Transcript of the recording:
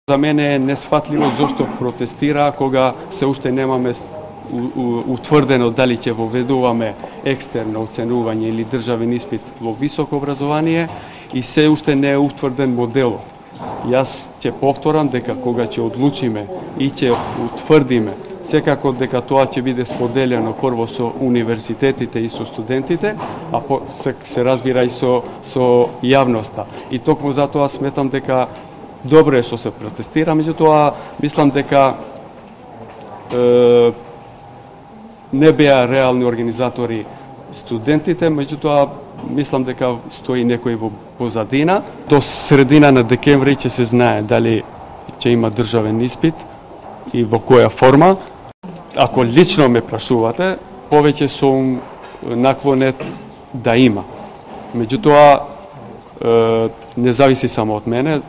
За мене е несфатливо зошто протестира кога се уште немаме утврдено дали ќе воведуваме екстерно оценување или државен испит во високо образование и се уште не е утврден моделот. Јас ќе повторам дека кога ќе одлучиме и ќе утврдиме, секако дека тоа ќе биде споделено прво со универзитетите и со студентите, а се разбира и со јавноста. И токму затоа сметам дека добро е што се протестира, меѓутоа мислам дека не беа реални организатори студентите, меѓутоа мислам дека стои некој во позадина. До средина на декември ќе се знае дали ќе има државен испит и во која форма. Ако лично ме прашувате, повеќе сум наклонет да има. Меѓутоа не зависи само од мене.